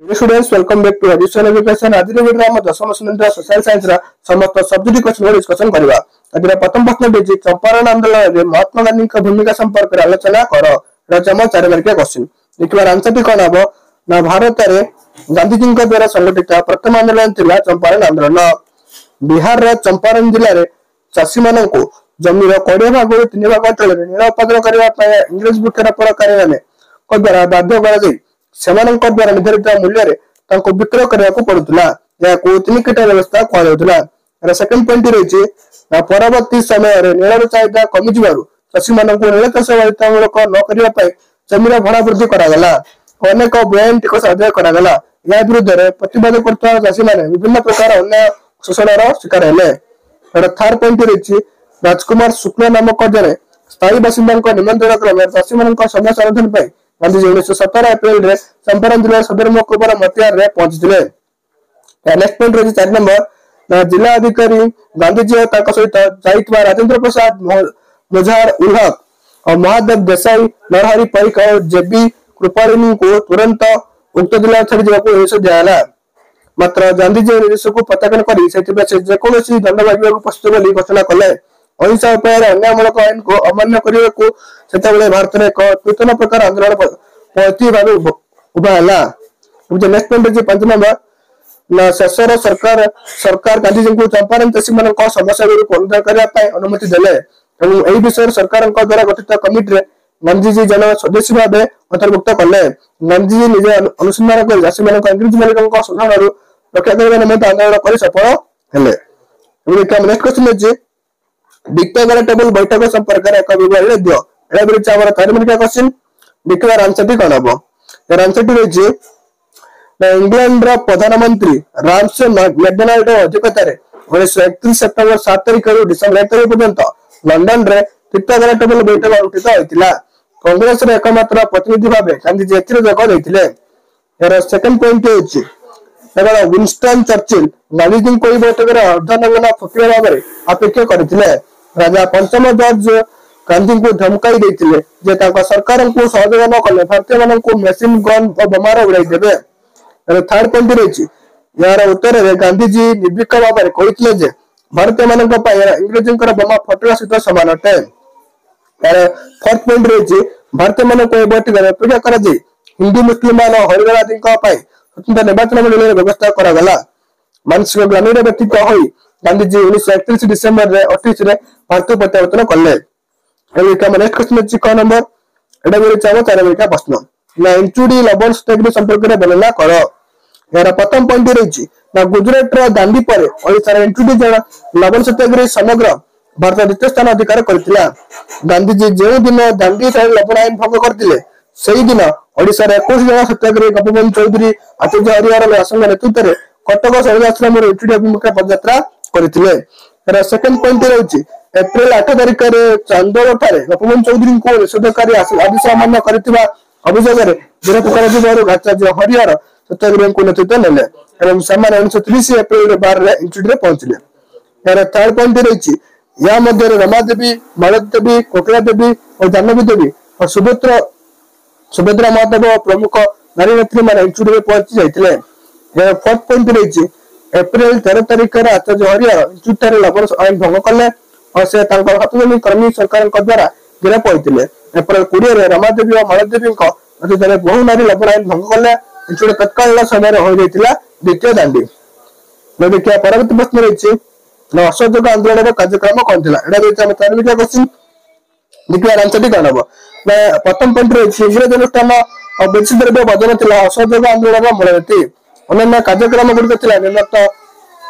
Students, welcome back to Addition Education. ଆଜିର ଭିଡିଓରେ ଆମ ଦଶମ ଶ୍ରେଣୀର ସୋସିଆଲ ସାଇନ୍ସର ସମସ୍ତ ସବଜେକ୍ଟ କ୍ୱେଶ୍ଚନ ଡିସ୍କସନ କରିବା। ଆଜିର ପ୍ରଥମ ପ୍ରଶ୍ନ ଦେଇଛି, ଚମ୍ପାରଣ ଆନ୍ଦୋଳନରେ ମହାତ୍ମା ଗାନ୍ଧୀଙ୍କ ଭୂମିକା ସମ୍ପର୍କରେ ଆଲୋଚନା କର। ଏଟା ହଉଛି ଆମ 4 ମାର୍କିଆ କ୍ୱେଶ୍ଚନ। ଦେଖିବାର ଆନ୍ସରଟି କଣ ହବ ନା, ଭାରତରେ ଗାନ୍ଧିଜୀଙ୍କ ଦ୍ୱାରା ସଂଗଠିତ ପ୍ରଥମ ଆନ୍ଦୋଳନ ଥିଲା ଚମ୍ପାରଣ ଆନ୍ଦୋଳନ। ବିହାରର ଚମ୍ପାରଣ ଜିଲ୍ଲାରେ ଚାଷୀମାନଙ୍କୁ ଜମିର 20 ଭାଗରୁ 3 ଭାଗ ଅଞ୍ଚଳରେ ନୀଳ ଉତ୍ପାଦନ କରିବା ପାଇଁ ଇଂରେଜ ବୃକ୍ଷରୋପଣକାରୀମାନଙ୍କ ଦ୍ୱାରା ବାଧ୍ୟ କରାଯାଇ ସେମାନଙ୍କ ଦ୍ୱାରା ନିର୍ଦ୍ଧାରିତ ମୂଲ୍ୟରେ ତାଙ୍କୁ ବିକ୍ରୟ କରିବାକୁ ପଡୁଥିଲା। ଏହାକୁ ତିନି କୀଟ ବ୍ୟବସ୍ଥା କୁହାଯାଉଥିଲା। ଏହାର ସେକେଣ୍ଡ ପଏଣ୍ଟ ରହିଛି, ପରବର୍ତ୍ତୀ ସମୟରେ ନୀଳର ଚାହିଦା କମିଯିବାରୁ ଚାଷୀମାନଙ୍କୁ ନୀଳ ଚାଷ ବାଧ୍ୟତାମୂଳକ ନ କରିବା ପାଇଁ ଜମିର ଭଡା ବୃଦ୍ଧି କରାଗଲା। ଅନେକ ବେଆଇନ ଟିକସ ଆଦାୟ କରାଗଲା। ଏହା ବିରୁଦ୍ଧରେ ପ୍ରତିବାଦ କରୁଥିବା ଚାଷୀମାନେ ବିଭିନ୍ନ ପ୍ରକାର ଅନ୍ୟାୟ ଶୋଷଣର ଶିକାର ହେଲେ। ଏହାର ଥାର୍ଡ ପଏଣ୍ଟ ରହିଛି, ରାଜକୁମାର ଶୁକ୍ଳ ନାମକ ଜଣେ ସ୍ଥାୟୀ ବାସିନ୍ଦାଙ୍କ ନିମନ୍ତ୍ରଣ କ୍ରମେ ଚାଷୀମାନଙ୍କ ସମସ୍ୟା ସମାଧାନ ପାଇଁ ଗାନ୍ଧିଜୀ 1917 ଏପ୍ରିଲରେ ଚମ୍ପାରଣ ଜିଲ୍ଲାର ସଦର ମହକୁମାର ମତିହାରରେ ପହଞ୍ଚିଥିଲେ। ନେକ୍ସଟ ପଏଣ୍ଟ ରହିଛି 4 ନମ୍ବର, ଜିଲ୍ଲା ଅଧିକାରୀ ଗାନ୍ଧିଜୀ ଓ ତାଙ୍କ ସହିତ ଯାଇଥିବା ରାଜେନ୍ଦ୍ର ପ୍ରସାଦ, ମୁଜାହର ଉଲ ହକ, ମହାଦେବ ଦେଶାଇ, ନରହରି ପରିକ ଓ ଜେବି କୃପାଳିନୀଙ୍କୁ ତୁରନ୍ତ ଉକ୍ତ ଜିଲ୍ଲା ଛାଡି ଯିବାକୁ ନିର୍ଦ୍ଦେଶ ଦିଆଗଲା। ମାତ୍ର ଗାନ୍ଧିଜୀ ନିର୍ଦ୍ଦେଶକୁ ପ୍ରତ୍ୟାଖ୍ୟାନ କରି ସେଥିପାଇଁ ସେ ଯେକୌଣସି ଦଣ୍ଡ ଭୋଗିବାକୁ ପ୍ରସ୍ତୁତ ବୋଲି ଘୋଷଣା କଲେ। ଅହିଂସା ଉପାୟରେ ଅନ୍ୟାୟମୂଳକ ଆଇନକୁ ଅମାନ୍ୟ କରିବାକୁ ସେତେବେଳେ ଭାରତରେ ଏକ ନୂତନ ପ୍ରକାର ଆନ୍ଦୋଳନ ପଦ୍ଧତି ଭାବେ ଉଭା ହେଲା। ନେକ୍ସଟ ପଏଣ୍ଟ ଅଛି 5 ନମ୍ବର, ଶେଷର ସରକାର ଗାନ୍ଧିଜୀଙ୍କୁ ଚମ୍ପାରଣ ଚାଷୀମାନଙ୍କ ସମସ୍ୟା ଗୁଡ଼ିକୁ ଅନୁଧ୍ୟାନ କରିବା ପାଇଁ ଅନୁମତି ଦେଲେ ଏବଂ ଏହି ବିଷୟରେ ସରକାରଙ୍କ ଦ୍ୱାରା ଗଠିତ କମିଟିରେ ଗାନ୍ଧିଜୀ ଜଣେ ସଦସ୍ୟ ଭାବେ ଅନ୍ତର୍ଭୁକ୍ତ କଲେ। ଗାନ୍ଧିଜୀ ନିଜେ ଅନୁସନ୍ଧାନ କରି ଚାଷୀମାନଙ୍କ ଇଂରେଜ ମାଲିକଙ୍କ ଶୋଷଣରୁ ରକ୍ଷା କରିବା ନିମନ୍ତେ ଆନ୍ଦୋଳନ କରି ସଫଳ ହେଲେ। ଏବଂ ନେକ୍ସଟ କ୍ୱେଶ୍ଚନ ଅଛି, ଭିକ୍ଟୋରିଆ ଟେବୁଲ ବୈଠକ ସମ୍ପର୍କରେ ଏକ ବିବରଣୀ ଦିଅ। ଏଟା ବି ରହିଛି ଆମର 4 ମାର୍କିଆ କ୍ୱେଶ୍ଚନ। ଦେଖିବାର ଆନ୍ସରଟି କଣ ହବ? ଏହାର ଆନ୍ସରଟି ରହିଛି, ଇଂଲଣ୍ଡର ପ୍ରଧାନମନ୍ତ୍ରୀ ରାମସେ ମ୍ୟାକଡୋନାଲ୍ଡ ଅଧ୍ୟକ୍ଷତାରେ 1931 ସେପ୍ଟେମ୍ବର 7 ତାରିଖରୁ ଡିସେମ୍ବର 1 ତାରିଖ ପର୍ଯ୍ୟନ୍ତ ଲଣ୍ଡନରେ ପିତାଗରା ଟେବୁଲ ବୈଠକ ଅନୁଷ୍ଠିତ ହୋଇଥିଲା। କଂଗ୍ରେସର ଏକମାତ୍ର ପ୍ରତିନିଧି ଭାବେ ଗାନ୍ଧିଜୀ ଏଥିରେ ଯୋଗ ଦେଇଥିଲେ। ଏହାର ସେକେଣ୍ଡ ପଏଣ୍ଟ ହେଉଛି, ୱିନଷ୍ଟନ ଚର୍ଚିଲ ଗାନ୍ଧିଜୀଙ୍କୁ ଏହି ବୈଠକରେ ଅର୍ଦ୍ଧନଗ୍ନ ଫକୀର ଭାବରେ ଅପେକ୍ଷା କରିଥିଲେ। ରାଜା ପଞ୍ଚମ ଜର୍ଜ ଗାନ୍ଧୀଙ୍କୁ ଧମକାଇ ଦେଇଥିଲେ ଯେ ତାଙ୍କ ସରକାରଙ୍କୁ ସହଯୋଗ ନ କଲେ ଭାରତୀୟମାନଙ୍କୁ ମେସିନ ଗନ୍ ଓ ବୋମାର ଉଡ଼ାଇ ଦେବେ। ଥାର୍ଡ ପଏଣ୍ଟ ରହିଛି, ଏହାର ଉତ୍ତରରେ ଗାନ୍ଧିଜୀ ନିର୍ଭୀକ ଭାବରେ କହିଥିଲେ ଯେ ଭାରତୀୟମାନଙ୍କ ପାଇଁ ଇଂରେଜଙ୍କର ବୋମା ଫଟକା ସହିତ ସମାନ ଅଟେ। ଏହାର ଫୋର୍ଥ ପଏଣ୍ଟ ରହିଛି, ଭାରତୀୟମାନଙ୍କୁ ଏହି ବୈଠକରେ ଅପେକ୍ଷା କରାଯାଇ ହିନ୍ଦୁ, ମୁସଲମାନ ଓ ହରିଜନ ଆଦିଙ୍କ ପାଇଁ ସ୍ୱତନ୍ତ୍ର ନିର୍ବାଚନ ମଣ୍ଡଳୀର ବ୍ୟବସ୍ଥା କରାଗଲା। ମାନସିକ ଗ୍ଲାନିରେ ବ୍ୟତୀତ ହୋଇ ଗାନ୍ଧିଜୀ 1931 ଡିସେମ୍ବରରେ 28ରେ ଭାରତକୁ ପ୍ରତ୍ୟାବର୍ତ୍ତନ କଲେ। ନେକ୍ସଟ କ୍ୱେଶ୍ଚନ ଅଛି 6 ନମ୍ବର, ଏଟା ବି ରହିଛି ଆମ 4 ମାର୍କିଆ ପ୍ରଶ୍ନ। ନା, ଇଞ୍ଚୁଡି ଲବଣ ସତ୍ୟାଗ୍ରହ ସମ୍ପର୍କରେ ବର୍ଣ୍ଣନା କର। ଏହାର ପ୍ରଥମ ପଏଣ୍ଟ ରହିଛି ନା, ଗୁଜୁରାଟର ଦାଣ୍ଡି ପରେ ଓଡ଼ିଶାର ଇଞ୍ଚୁଡି ଜଳ ଲବଣ ସତ୍ୟାଗ୍ରହୀ ସମଗ୍ର ଭାରତ ଦ୍ୱିତୀୟ ସ୍ଥାନ ଅଧିକାର କରିଥିଲା। ଗାନ୍ଧିଜୀ ଯେଉଁ ଦିନ ଦାଣ୍ଡି ଠାରେ ଲବଣ ଆଇନ ଭଙ୍ଗ କରିଥିଲେ, ସେଇଦିନ ଓଡ଼ିଶାର 21 ଜଣ ସତ୍ୟାଗ୍ରହୀ ଗୋପବନ୍ଧୁ ଚୌଧୁରୀ, ଆଚାର୍ଯ୍ୟ ହରିହର ଦାସଙ୍କ ନେତୃତ୍ୱରେ କଟକ ଶୈଳା ଆଶ୍ରମରୁ ଇଞ୍ଚୁଡି ଅଭିମୁଖେ ପଦଯାତ୍ରା କରିଥିଲେ। ଏହାର ସେକେଣ୍ଡ ପଏଣ୍ଟ ରହିଛି, ଏପ୍ରିଲ 8 ତାରିଖରେ ଚାନ୍ଦୋଳ ଠାରେ ଗୋପବନ୍ଧୁ ଚୌଧୁରୀଙ୍କୁ ନିଷେଧକାରୀ ଆଦେଶ ଅମାନ୍ୟ କରିଥିବା ଅଭିଯୋଗରେ ଗିରଫ କରାଯିବାରୁ ଆଚାର୍ଯ୍ୟ ହରିହର ସତ୍ୟାଗ୍ରହୀଙ୍କୁ ନେତୃତ୍ୱ ନେଲେ ଏବଂ ସେମାନେ 1930 ଏପ୍ରିଲ 12ରେ ଇଞ୍ଚୁଡିରେ ପହଞ୍ଚିଲେ। ଏହାର ଥାର୍ଡ ପଏଣ୍ଟ ରହିଛି, ଏହା ମଧ୍ୟରେ ରମାଦେବୀ, ମାଳତୀ ଦେବୀ, କୋକିଳା ଦେବୀ ଓ ଜାହ୍ନବୀ ଦେବୀ ଓ ସୁଭଦ୍ରା ମହାଦେବ ପ୍ରମୁଖ ନାରୀ ନେତ୍ରୀ ମାନେ ଇଞ୍ଚୁଡିରେ ପହଞ୍ଚି ଯାଇଥିଲେ। ଏହାର ଫୋର୍ଥ ପଏଣ୍ଟ ରହିଛି, ଏପ୍ରିଲ 13 ତାରିଖରେ ଆଚାର୍ଯ୍ୟ ହରିହର ଇଞ୍ଚୁଡି ଠାରେ ଲବଣ ଆଇନ ଭଙ୍ଗ କଲେ ଓ ସେ ତାଙ୍କର 7 ଜଣ କର୍ମୀ ସରକାରଙ୍କ ଦ୍ୱାରା ଗିରଫ ହୋଇଥିଲେ। ଏପ୍ରିଲ 20ରେ ରମାଦେବୀ ଓ ମାଳଦେବୀଙ୍କ ନେତୃତ୍ୱରେ ବହୁ ନାରୀ ଲବଣ ଆଇନ ଭଙ୍ଗ କଲେ। ଇଞ୍ଚୁଡି ତତ୍କାଳୀନ ସମୟରେ ହୋଇଯାଇଥିଲା ଦ୍ୱିତୀୟ ଦାଣ୍ଡି। ଦେଖିବା ପରବର୍ତ୍ତୀ ପ୍ରଶ୍ନ ରହିଛି, ଅସହଯୋଗ ଆନ୍ଦୋଳନର କାର୍ଯ୍ୟକ୍ରମ କଣ ଥିଲା? ଏଇଟା ରହିଛି ଆମ 4 ମାର୍କିଆ କ୍ୱେଶ୍ଚନ। ଦେଖିବା ଆନ୍ସରଟି କଣ ହବ ନା, ପ୍ରଥମ ପଏଣ୍ଟ ରହିଛି, ଇଂରେଜ ଅନୁଷ୍ଠାନ ଓ ବିଦେଶୀ ଦ୍ରବ୍ୟ ବର୍ଜନ ଥିଲା ଅସହଯୋଗ ଆନ୍ଦୋଳନର ମୂଳନୀତି। ଅନ୍ୟାନ୍ୟ କାର୍ଯ୍ୟକ୍ରମ ଗୁଡ଼ିକ ଥିଲା ନିମ୍ନୋକ୍ତ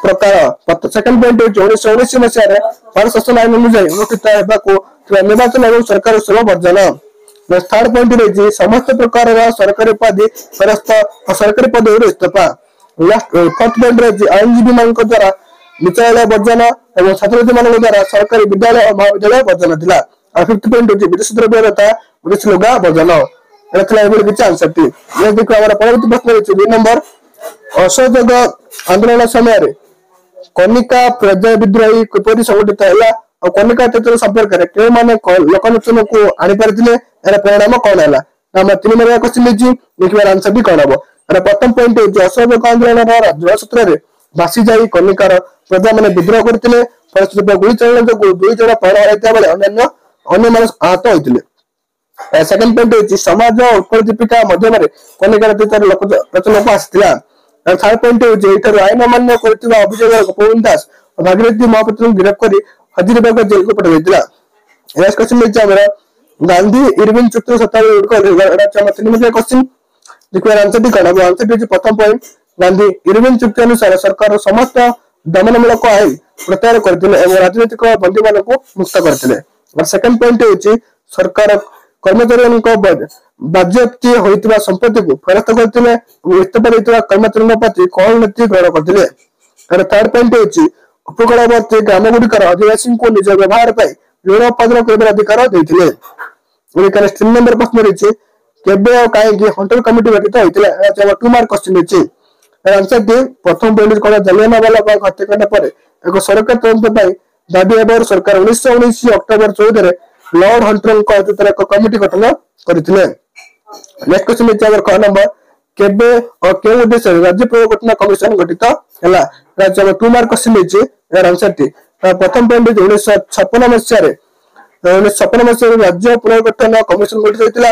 ପ୍ରକାର। ସେକେଣ୍ଡ ପଏଣ୍ଟ ହେଉଛି, 1919 ମସିହାରେ ଭାରତ ଶାସନ ଆଇନ ଅନୁଯାୟୀ ଅନୁଷ୍ଠିତ ହେବାକୁ ଥିବା ନିର୍ବାଚନ ଏବଂ ସରକାର ଉତ୍ସବ ବର୍ଜନ। ଥାର୍ଡ ପଏଣ୍ଟ ରହିଛି, ସମସ୍ତ ପ୍ରକାରର ସରକାରୀ ଉପାଧି ଫେରସ୍ତ ଓ ସରକାରୀ ପଦବୀରୁ ଇସ୍ତଫା। ଲାଷ୍ଟ ଫୋର୍ଥ ପଏଣ୍ଟ ରହିଛି, ଆଇନଜୀବୀ ମାନଙ୍କ ଦ୍ୱାରା ବିଚାରାଳୟ ବର୍ଜନ ଏବଂ ଛାତ୍ରଛାତ୍ରୀ ମାନଙ୍କ ଦ୍ୱାରା ସରକାରୀ ବିଦ୍ୟାଳୟ ଓ ମହାବିଦ୍ୟାଳୟ ବର୍ଜନ ଥିଲା। ଆଉ ଫିଫ୍ଥ ପଏଣ୍ଟ ହେଉଛି ବିଦେଶୀ ଦ୍ରବ୍ୟ ତଥା ବିଦେଶୀ ଲୁଗା ବର୍ଜନ। ଏଟା ଥିଲା ଏଭଳି କିଛି ଆନ୍ସରଟି। ଦେଖିବା ଆମର ପରବର୍ତ୍ତୀ ପ୍ରଶ୍ନ ରହିଛି 2 ନମ୍ବର, ଅସହଯୋଗ ଆନ୍ଦୋଳନ ସମୟରେ କନିକା ପ୍ରଜା ବିଦ୍ରୋହୀ କିପରି ସଂଗଠିତ ହେଲା ଆଉ କନିକା ଅତ୍ୟାଚାର ସମ୍ପର୍କରେ କେଉଁମାନେ ଲୋକଲୋଚନକୁ ଆଣିପାରିଥିଲେ, ଏହାର ପରିଣାମ କଣ ହେଲା? ଆମର 3 ମାର୍କିଆ କ୍ୱେଶ୍ଚନ ହେଇଛି। ଦେଖିବାର ଆନ୍ସରଟି କଣ ହବ? ପ୍ରଥମ ପଏଣ୍ଟ ହେଉଛି ଅସହଯୋଗ ଆନ୍ଦୋଳନର ଜଳସୂତ୍ରରେ ଭାସି ଯାଇ କନିକାର ପ୍ରଜାମାନେ ବିଦ୍ରୋହ କରିଥିଲେ। ଫଳସ୍ୱରୂପ ଗୁଳି ଚାଳନା ଯୋଗୁଁ 2 ଜଣ ପ୍ରାଣ ହରାଇଥିବା ବେଳେ ଅନ୍ୟମାନେ ଆହତ ହୋଇଥିଲେ। ସେକେଣ୍ଡ ପଏଣ୍ଟ ହେଉଛି ସମାଜ ଉତ୍କଳ ଦୀପିକା ମାଧ୍ୟମରେ କନିକାର ଅତୀତରେ ଲୋଚନକୁ ଆସିଥିଲା। ଥାର୍ଡ ପଏଣ୍ଟ ହେଉଛି ଏଠାରୁ ଆଇନ ଅମାନ୍ୟ କରିଥିବା ଅଭିଯୋଗରେ ଗୋପବନ୍ଧୁ ଦାସ ଓ ଭାଗୀରଥୀ ମହାପାତ୍ରଙ୍କୁ ଗିରଫ କରି ହଜାରୀବାଗ ଜେଲକୁ ପଠାଯାଇଥିଲା। ନେକ୍ସଟ କ୍ୱେଶ୍ଚନ ହେଉଛି ଆମର ଗାନ୍ଧୀ ଇରବିନ ଚୁକ୍ତିର ଶତାବ୍ଦୀ ଗୁଡ଼ିକ। ଏଟା ହଉଛି ଆମର 3 ମାର୍କିଆ କ୍ୱେଶ୍ଚନ। ଦେଖିବାର ଆନ୍ସରଟି କଣ ହବ? ଆନ୍ସରଟି ହେଉଛି ପ୍ରଥମ ପଏଣ୍ଟ, ଗାନ୍ଧୀ ଇରବିନ ଚୁକ୍ତି ଅନୁସାରେ ସରକାର ସମସ୍ତ ଦମନମୂଳକ ଆଇନ ପ୍ରତ୍ୟାହାର କରିଥିଲେ ଏବଂ ରାଜନୈତିକ ବନ୍ଦୀମାନଙ୍କୁ ମୁକ୍ତ କରିଥିଲେ। ସେକେଣ୍ଡ ପଏଣ୍ଟ ହେଉଛି ସରକାର କର୍ମଚାରୀମାନଙ୍କ ବାଜ୍ୟାପ୍ତି ହୋଇଥିବା ସମ୍ପତ୍ତିକୁ ଫେରସ୍ତ କରିଥିଲେ ଏବଂ ଇସ୍ତଫା ଦେଇଥିବା କର୍ମଚାରୀଙ୍କ ପ୍ରତି କହଳ ନୀତି ଗ୍ରହଣ କରିଥିଲେ। ଥାର୍ଡ ପଏଣ୍ଟ ହେଉଛି ଉପକୂଳବର୍ତ୍ତୀ ଗ୍ରାମଗୁଡ଼ିକର ଅଧିବାସୀଙ୍କୁ ନିଜ ବ୍ୟବହାର ପାଇଁ ଋଣ ଉତ୍ପାଦନ କରିବାର ଅଧିକାର ଦେଇଥିଲେ। 3 ନମ୍ବର ପ୍ରଶ୍ନ ରହିଛି କେବେ ଆଉ କାହିଁକି ହଣ୍ଟର କମିଟି ଗଠିତ ହୋଇଥିଲା? ଏହା 2 ମାର୍କ କ୍ୱେଶ୍ଚନ ରହିଛି। ଆନ୍ସରଟି ପ୍ରଥମ ପଏଣ୍ଟ କଣ, ଜାଲିଆନାୱାଲାବାଗ ହତ୍ୟାକାଣ୍ଡ ପରେ ଏକ ସରକାର ତଦନ୍ତ ପାଇଁ ଦାବି ହେବାରୁ ସରକାର 1919 ଅକ୍ଟୋବର 14ରେ ଲର୍ଡ ହଣ୍ଟରଙ୍କ ନେତୃତ୍ୱରେ ଏକ କମିଟି ଗଠନ କରିଥିଲେ। ନେକ୍ସଟ କ୍ୱେଶ୍ଚନ ହେଉଛି ଆମର କ ନମ୍ବର, କେବେ ଓ କେଉଁ ଉଦ୍ଦେଶ୍ୟରେ ରାଜ୍ୟ ପୁନର୍ଗଠନ କମିଶନ ଗଠିତ ହେଲା? ରାଜ୍ୟ 2 ମାର୍କ କ୍ୱେଶ୍ଚନ ହେଇଛି। ଏହାର ଆନ୍ସରଟି ପ୍ରଥମ ପଏଣ୍ଟ ହେଉଛି 1956 ମସିହାରେ 1956 ମସିହାରେ ରାଜ୍ୟ ପୁନର୍ଗଠନ କମିଶନ ଗଠିତ ହୋଇଥିଲା।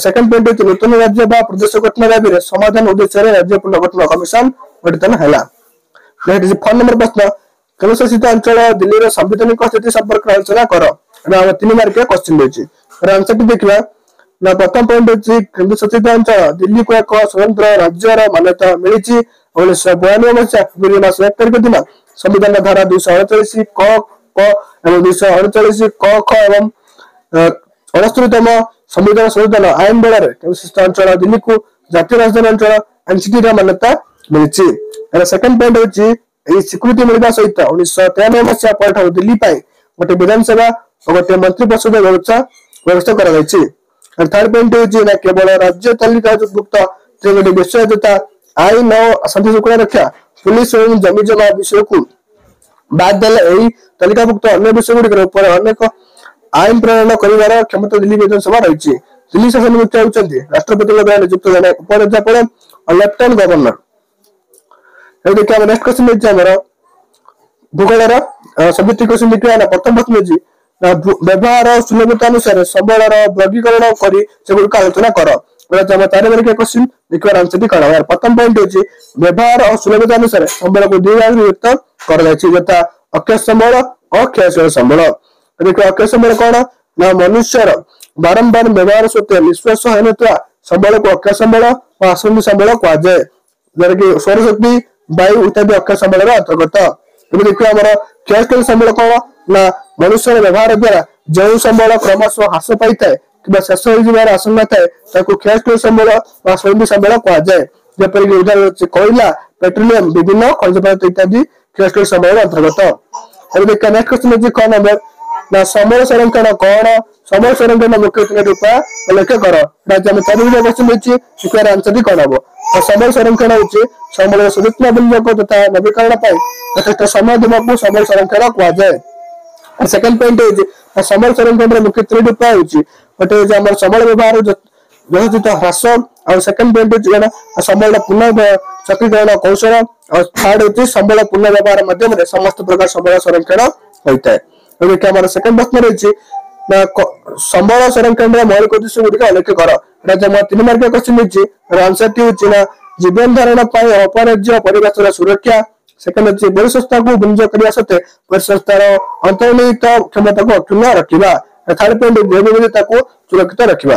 ସେକେଣ୍ଡ ପଏଣ୍ଟ ହେଉଛି ନୂତନ ରାଜ୍ୟ ବା ପ୍ରଦେଶ ଗଠନ ଦାବିରେ ସମାଧାନ ଉଦ୍ଦେଶ୍ୟରେ ରାଜ୍ୟ ପୁନର୍ଗଠନ କମିଶନ ଗଠିତ ହେଲା। ନେକ୍ସଟ 4 ନମ୍ବର ପ୍ରଶ୍ନ, କେନ୍ଦ୍ରଶାସିତ ଅଞ୍ଚଳ ଦିଲ୍ଲୀର ସାମ୍ବିଧାନିକ ସ୍ଥିତି ସମ୍ପର୍କରେ ଆଲୋଚନା କର। ଏଟା ଆମର 3 ମାର୍କିଆ କ୍ୱେଶ୍ଚନ ରହିଛି। ଏହାର ଆନ୍ସରଟି ଦେଖିବା ନା, ପ୍ରଥମ ପଏଣ୍ଟ ହେଉଛି କେନ୍ଦ୍ରଶାସିତ ଅଞ୍ଚଳ ଦିଲ୍ଲୀକୁ ଏକ ସ୍ୱତନ୍ତ୍ର ରାଜ୍ୟର ମାନ୍ୟତା ମିଳିଛି। 1992 ମସିହା ଫେବୃଆରୀ ମାସ 1 ତାରିଖ ଦିନ ସମ୍ବିଧାନ ଧାରା 239 କ କ ଏବଂ 239 କ ଖ ଏବଂ 69ତମ ସମ୍ବିଧାନ ସଂଶୋଧନ ଆଇନ ବଳରେ କେନ୍ଦ୍ରଶାସିତ ଅଞ୍ଚଳ ଦିଲ୍ଲୀକୁ ଜାତୀୟ ରାଜଧାନୀ ଅଞ୍ଚଳ ଏନସିଟି ର ମାନ୍ୟତା ମିଳିଛି। ଏହାର ସେକେଣ୍ଡ ପଏଣ୍ଟ ହେଉଛି ଏହି ସ୍ୱୀକୃତି ମିଳିବା ସହିତ 1993 ମସିହା ପରଠାରୁ ଦିଲ୍ଲୀ ପାଇଁ ଗୋଟେ ବିଧାନସଭା ଓ ଗୋଟେ ମନ୍ତ୍ରୀ ପରିଷଦ ବ୍ୟବସ୍ଥା କରାଯାଇଛି। ଥାର୍ଡ ପଏଣ୍ଟ ହେଉଛି ନା କେବଳ ରାଜ୍ୟ ତାଲିକାଭୁକ୍ତ ତିନୋଟି ବିଷୟ ଯଥା ଆଇନ ଓ ଶାନ୍ତି ଶୃଙ୍ଖଳା ରକ୍ଷା, ପୁଲିସ ଏବଂ ଜମି ଜମା ବିଷୟକୁ ବାଦ ଦେଲେ ଏହି ତାଲିକାଭୁକ୍ତ ଅନ୍ୟ ବିଷୟ ଗୁଡ଼ିକର ଉପରେ ଅନେକ ଆଇନ ପ୍ରଣୟନ କରିବାର କ୍ଷମତା ଦିଲ୍ଲୀ ବିଧାନସଭା ରହିଛି। ଦିଲ୍ଲୀ ଶାସନ ମୁଖ୍ୟ ହେଉଛନ୍ତି ରାଷ୍ଟ୍ରପତିଙ୍କ ଦ୍ୱାରା ନିଯୁକ୍ତ ଜଣେ ଉପରାଜ୍ୟପାଳ ଓ ଲେଫ୍ଟନାଣ୍ଟ ଗଭର୍ଣ୍ଣର। ଏବେ ଦେଖିବା ଆମର ନେକ୍ସଟ କ୍ୱେଶ୍ଚନ ହେଉଛି ଆମର ଭୂଗୋଳର ସବଜେକ୍ଟିଭ କ୍ୱେଶ୍ଚନ ଦେଖିବା ନା, ପ୍ରଥମ ପ୍ରଶ୍ନ ହେଉଛି ନା ବ୍ୟବହାର ସୁଲଭତା ଅନୁସାରେ ସମ୍ବଳର ବର୍ଗୀକରଣ କରି ସେଗୁଡ଼ିକ ଆଲୋଚନା କର। ଏଟା ଆମର 4 ମାର୍କିଆ କ୍ୱେଶ୍ଚନ। ଦେଖିବାର ଆନ୍ସରଟି କଣ ହବ? ପ୍ରଥମ ପଏଣ୍ଟ ହେଉଛି ବ୍ୟବହାର ଓ ସୁଲଭତା ଅନୁସାରେ ସମ୍ବଳକୁ 2 ଭାଗରେ ବିଭକ୍ତ କରାଯାଇଛି, ଯଥା ଅକ୍ଷୟ ସମ୍ବଳ ଓ କ୍ଷୟଶୀଳ ସମ୍ବଳ। ଦେଖିବା ଅକ୍ଷୟ ସମ୍ବଳ କଣ ନା ମନୁଷ୍ୟର ବାରମ୍ବାର ବ୍ୟବହାର ସତ୍ତ୍ୱେ ନିଃଶ୍ୱାସ ହେଉନଥିବା ସମ୍ବଳକୁ ଅକ୍ଷୟ ସମ୍ବଳ ଓ ଆସନ୍ଦ ସମ୍ବଳ କୁହାଯାଏ, ଯାହାକି ସୌରଶକ୍ତି, ବାୟୁ ଇତ୍ୟାଦି ଅକ୍ଷୟ ସମ୍ବଳର ଅନ୍ତର୍ଗତ। ଏବେ ଦେଖିବା ଆମର କ୍ଷୟଶୀଳ ସମ୍ବଳ କଣ ନା ମନୁଷ୍ୟର ବ୍ୟବହାର ଦ୍ୱାରା ଯେଉଁ ସମ୍ବଳ କ୍ରମଶଃ ହ୍ରାସ ପାଇଥାଏ କିମ୍ବା ଶେଷ ହୋଇଯିବାର ଆଶଙ୍କା ଥାଏ ତାକୁ କ୍ଷୟଶୀଳ ସମ୍ବଳ ବା ସୌମ୍ୟ ସମ୍ବଳ କୁହାଯାଏ। ଯେପରିକି ଉଦାହରଣ ହେଉଛି କୋଇଲା, ପେଟ୍ରୋଲିୟମ, ବିଭିନ୍ନ ଖଣିଜ ପଦାର୍ଥ ଇତ୍ୟାଦି କ୍ଷୟଶୀଳ ସମ୍ବଳର ଅନ୍ତର୍ଗତ। ଏବେ ଦେଖିବା ନେକ୍ସଟ କ୍ୱେଶ୍ଚନ ହେଉଛି କ ନମ୍ବର ନା ସମ୍ବଳ ସଂରକ୍ଷଣ କଣ? ସମ୍ବଳ ସଂରକ୍ଷଣ ମୁଖ୍ୟ ତିନୋଟି ଉପାୟ ଉଲ୍ଲେଖ କର। ଏଟା ଆମେ 4 ମାର୍କିଆ କ୍ୱେଶ୍ଚନ ହେଇଛି। ଦେଖିବାର ଆନ୍ସରଟି କଣ ହବ? ସମ୍ବଳ ସଂରକ୍ଷଣ ହେଉଛି ସମ୍ବଳର ସଯତ୍ନ ବିନିଯୋଗ ତଥା ନବୀକରଣ ପାଇଁ ଯଥେଷ୍ଟ ସମୟ ଦେବାକୁ ସମ୍ବଳ ସଂରକ୍ଷଣ କୁହାଯାଏ। ସେକେଣ୍ଡ ପଏଣ୍ଟ ହେଉଛି ସମ୍ବଳ ସଂରକ୍ଷଣର ମୁଖ୍ୟ ତିନୋଟି ଉପାୟ ହେଉଛି, ଗୋଟେ ହେଉଛି ଆମର ସମ୍ବଳ ବ୍ୟବହାର ଯଥୋଚିତ ହ୍ରାସ, ଆଉ ସେକେଣ୍ଡ ପଏଣ୍ଟ ହେଉଛି କଣ ସମ୍ବଳର ପୁନଃ ଚକ୍ରୀକରଣ କୌଶଳ, ଆଉ ଥାର୍ଡ ହେଉଛି ସମ୍ବଳ ପୁନଃ ବ୍ୟବହାର ମାଧ୍ୟମରେ ସମସ୍ତ ପ୍ରକାର ସମ୍ବଳ ସଂରକ୍ଷଣ ହୋଇଥାଏ। ଏବେ ଆମର ସେକେଣ୍ଡ ପ୍ରଶ୍ନ ରହିଛି ନା ସମ୍ବଳ ସଂରକ୍ଷଣର ମୌଳିକ ଉଦ୍ଦେଶ୍ୟ ଗୁଡ଼ିକ ଉଲ୍ଲେଖ କର। ଏଟା ଆମର 3 ମାର୍କିଆ କ୍ୱେଶ୍ଚନ ହେଇଛି। ଆନ୍ସରଟି ହେଉଛି ନା ଜୀବନ ଧାରଣ ପାଇଁ ଅପରାଜ୍ୟ ପରିବେଶର ସୁରକ୍ଷା, ସେକେଣ୍ଡ ହେଉଛି ପରିସଂସ୍ଥାକୁ ବିନିଯୋଗ କରିବା ସତ୍ତ୍ୱେ ପରିସଂସ୍ଥାର ଅନ୍ତର୍ନିହିତ କ୍ଷମତାକୁ ଅକ୍ଷୁଣ୍ଣ ରଖିବା, ଥାର୍ଡ ପଏଣ୍ଟ ଜୈବ ବିବିଧତାକୁ ସୁରକ୍ଷିତ ରଖିବା।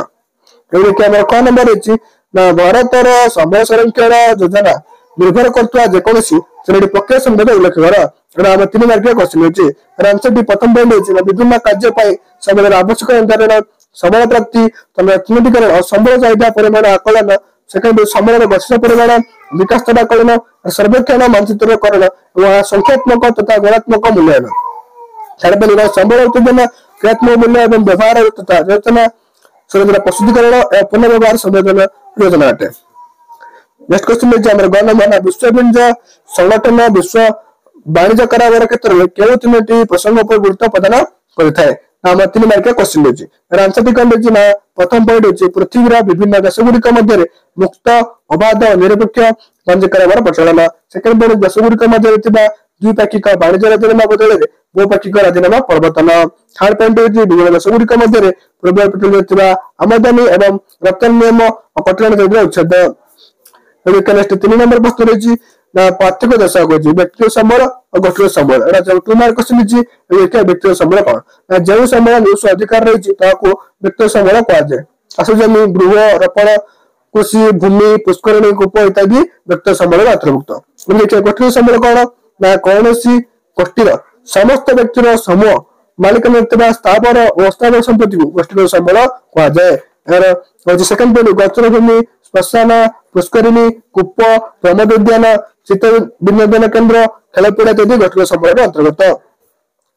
ଏବେ ଦେଖିବା ଆମର କ ନମ୍ବର ହେଇଛି ନା ଭାରତର ସମ୍ବଳ ସଂରକ୍ଷଣ ଯୋଜନା ନିର୍ଭର କରୁଥିବା ଯେକୌଣସି ତିନୋଟି ପ୍ରକ୍ରିୟା ସମ୍ବନ୍ଧରେ ଉଲ୍ଲେଖ କର। ଏଟା ଆମର 3 ମାର୍କିଆ କ୍ୱେଶ୍ଚନ ହେଇଛି। ଆନ୍ସରଟି ପ୍ରଥମ ପଏଣ୍ଟ ହେଉଛି ନା ବିଭିନ୍ନ କାର୍ଯ୍ୟ ପାଇଁ ସମ୍ବଳର ଆବଶ୍ୟକ ନିର୍ଦ୍ଧାରଣ, ସମ୍ବଳ ପ୍ରାପ୍ତି, ଚିହ୍ନଟୀକରଣ, ସମ୍ବଳ ଚାହିଦା ପରିମାଣ ଆକଳନ, ସେକେଣ୍ଡ ସମ୍ବଳର ଗଠିତ ପରିମାଣ, ବିକାଶ ସ୍ତର ଆକଳନ, ସର୍ବେକ୍ଷଣ ମାନଚିତ୍ରକରଣ ଏବଂ ସଂଖ୍ୟାତ୍ମକ ତଥା ଗୁଣାତ୍ମକ ମୂଲ୍ୟାୟନ। ଥାର୍ଡ ପଏଣ୍ଟ ସମ୍ବଳ ଉତ୍ତେଜନା, କ୍ରିୟାତ୍ମକ ମୂଲ୍ୟ ଏବଂ ବ୍ୟବହାର ତଥା ଯୋଜନା, ସଂରଚନା ପ୍ରସ୍ତୁତିକରଣ ଏବଂ ପୁନଃବ୍ୟବହାର ସଂଯୋଜନ ଯୋଜନା ଅଟେ। ନେକ୍ସଟ କ୍ୱେଶ୍ଚନ ହେଉଛି ଆମର ଗ ନମ୍ବର ନା ବିଶ୍ୱ ବାଣିଜ୍ୟ ସଂଗଠନ ବିଶ୍ୱ ବାଣିଜ୍ୟ କାରବାର କ୍ଷେତ୍ରରେ କେଉଁ ତିନୋଟି ପ୍ରସଙ୍ଗ ଉପରେ ଗୁରୁତ୍ୱ ପ୍ରଦାନ କରିଥାଏ? ଆମର 3 ମାର୍କିଆ କ୍ୱେଶ୍ଚିନ୍ ରହିଛି। ଏହାର ଆନ୍ସରଟି କଣ ରହିଛି ନା ପ୍ରଥମ ପଏଣ୍ଟ ହେଉଛି ପୃଥିବୀର ବିଭିନ୍ନ ଦେଶ ଗୁଡ଼ିକ ମଧ୍ୟରେ ମୁକ୍ତ, ଅବାଧ, ନିରପେକ୍ଷ ବାଣିଜ୍ୟ କାରବାର ପ୍ରଚଳନ। ସେକେଣ୍ଡ ପଏଣ୍ଟ ଦେଶ ଗୁଡ଼ିକ ମଧ୍ୟରେ ଥିବା ଦ୍ୱିପାକ୍ଷିକ ବାଣିଜ୍ୟ ରାଜିନାମା ବଦଳରେ ବହୁପାକ୍ଷିକ ରାଜିନାମା ପ୍ରବର୍ତ୍ତନ। ଥାର୍ଡ ପଏଣ୍ଟ ହେଉଛି ବିଭିନ୍ନ ଦେଶ ଗୁଡ଼ିକ ମଧ୍ୟରେ ପୂର୍ବ ପେଟ୍ରୋଲିୟମ ଥିବା ଆମଦାନୀ ଏବଂ ରପ୍ତାନି ନିୟମ ଓ କଟକଣା ଉଚ୍ଛେଦ। ନେକ୍ସଟ 3 ନମ୍ବର ପ୍ରଶ୍ନ ରହିଛି ନା ପାର୍ଥକ୍ୟ ଦର୍ଶାଅ କହିଛି ବ୍ୟକ୍ତିଗତ ସମ୍ବଳ ଓ ଗୋଷ୍ଠୀଗତ ସମ୍ବଳ। ଏଟା 2 ମାର୍କ କ୍ୱେଶ୍ଚିନ୍ ହେଇଛି। ଦେଖିବା ବ୍ୟକ୍ତିଗତ ସମ୍ବଳ କଣ ନା ଯେଉଁ ସମ୍ବଳ ନିଜସ୍ୱ ଅଧିକାର ରହିଛି ତାହାକୁ ବ୍ୟକ୍ତିଗତ ସମ୍ବଳ କୁହାଯାଏ। ଚାଷ ଜମି, ଗୃହ, ରୋପଣ, କୃଷି ଭୂମି, ପୁଷ୍କରିଣୀ, କୂପ ଇତ୍ୟାଦି ବ୍ୟକ୍ତିଗତ ସମ୍ବଳର ଅନ୍ତର୍ଭୁକ୍ତ। ଦେଖିବା ଗୋଷ୍ଠୀଗତ ସମ୍ବଳ କଣ ନା କୌଣସି ଗୋଷ୍ଠୀର ସମସ୍ତ ବ୍ୟକ୍ତିର ସମୂହ ମାଲିକାନା ଥିବା ସ୍ଥାବର ଓ ଅସ୍ଥାବର ସମ୍ପତ୍ତିକୁ ଗୋଷ୍ଠୀଗତ ସମ୍ବଳ କୁହାଯାଏ। ଏହାର ହଉଛି ସେକେଣ୍ଡ ପଏଣ୍ଟ ଗୋଚର ଭୂମି, ଶ୍ମଶାନ, ପୁଷ୍କରିଣୀ, କୂପ, ପ୍ରମୋଦ ଉଦ୍ୟାନ, ଚିତ୍ତ ବିନୋଦନ କେନ୍ଦ୍ର, ଖେଳପଡିଆ ଇତ୍ୟାଦି ଗୋଷ୍ଠୀଗତ ସମ୍ବଳର ଅନ୍ତର୍ଗତ।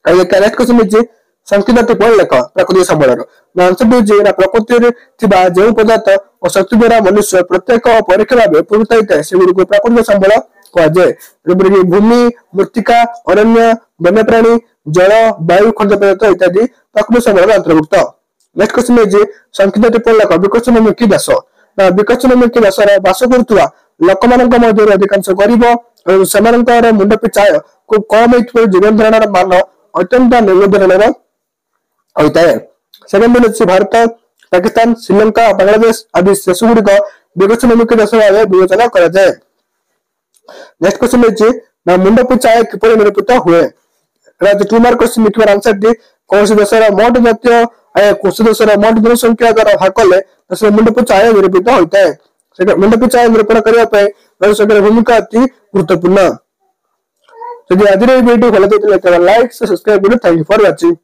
ନେକ୍ସଟ କ୍ୱେଶ୍ଚିନ୍ ହେଇଛି ସଂକ୍ଷିପ୍ତ ଟିପ୍ପଣୀ ଲେଖ ପ୍ରାକୃତିକ ସମ୍ବଳର। ନା ଆନ୍ସର ହେଉଛି ନା ପ୍ରକୃତିରେ ଥିବା ଯେଉଁ ପଦାର୍ଥ ଓ ଶକ୍ତି ଦ୍ୱାରା ମନୁଷ୍ୟ ପ୍ରତ୍ୟକ୍ଷ ଓ ପରୋକ୍ଷ ଭାବେ ଉପକୃତ ହୋଇଥାଏ ସେଗୁଡ଼ିକୁ ପ୍ରାକୃତିକ ସମ୍ବଳ କୁହାଯାଏ। ଯେପରିକି ଭୂମି, ମୃତ୍ତିକା, ଅରଣ୍ୟ, ବନ୍ୟପ୍ରାଣୀ, ଜଳ, ବାୟୁ, ଖଣିଜ ପଦାର୍ଥ ଇତ୍ୟାଦି ପ୍ରାକୃତିକ ସମ୍ବଳର ଅନ୍ତର୍ଭୁକ୍ତ। ନେକ୍ସଟ କ୍ୱେଶ୍ଚିନ୍ ହେଇଛି ସଂକ୍ଷିପ୍ତ ଟିପ୍ପଣୀ ଲେଖ ବିକଶନମୁଖୀ ଦେଶ। ନା ବିକଶନମୁଖୀ ଦେଶରେ ବାସ କରୁଥିବା ଲୋକମାନଙ୍କ ମଧ୍ୟରୁ ଅଧିକାଂଶ ଗରିବ ଏବଂ ସେମାନଙ୍କର ମୁଣ୍ଡ ପିଛା ଆୟ ଖୁବ କମ ହେଇଥିବାରୁ ଜୀବନ ଧାରଣର ମାନ ଅତ୍ୟନ୍ତ ନିମ୍ନ ଧରଣର ହୋଇଥାଏ। ସେକେଣ୍ଡ ଅଛି ଭାରତ, ପାକିସ୍ତାନ, ଶ୍ରୀଲଙ୍କା, ବାଂଲାଦେଶ ଆଦି ଦେଶ ଗୁଡ଼ିକ ବିକଶନମୁଖୀ ଦେଶ ଭାବେ ବିବେଚନା କରାଯାଏ। ନେକ୍ସଟ କ୍ୱେଶ୍ଚିନ୍ ହେଇଛି ନା ମୁଣ୍ଡ ପିଛା ଆୟ କିପରି ନିରୂପିତ ହୁଏ? ଏଟା ହଉଛି 2 ମାର୍କ କ୍ୱେଶ୍ଚିନ୍। ଲେଖିବାର ଆନ୍ସରଟି କୌଣସି ଦେଶର ମୋଟ ଜାତୀୟ ଆୟ କୌଣସି ଦେଶର ମୋଟ ଜନସଂଖ୍ୟା ଦ୍ୱାରା ଭାଗ କଲେ ଦେଶର ମୁଣ୍ଡ ପିଛା ଆୟ ନିରୂପିତ ହୋଇଥାଏ। ମୁଣ୍ଡ ପିଛା ଆୟ ନିରୂପଣ କରିବା ପାଇଁ ଜନସଂଖ୍ୟାର ଭୂମିକା ଅତି ଗୁରୁତ୍ୱପୂର୍ଣ୍ଣ। ଯଦି ଆଜିର ଏହି ଭିଡିଓ ଭଲ ଲାଗିଥିଲା ତେବେ ଲାଇକ୍, ସବସ୍କ୍ରାଇବ କରିବେ। Thank you for watching.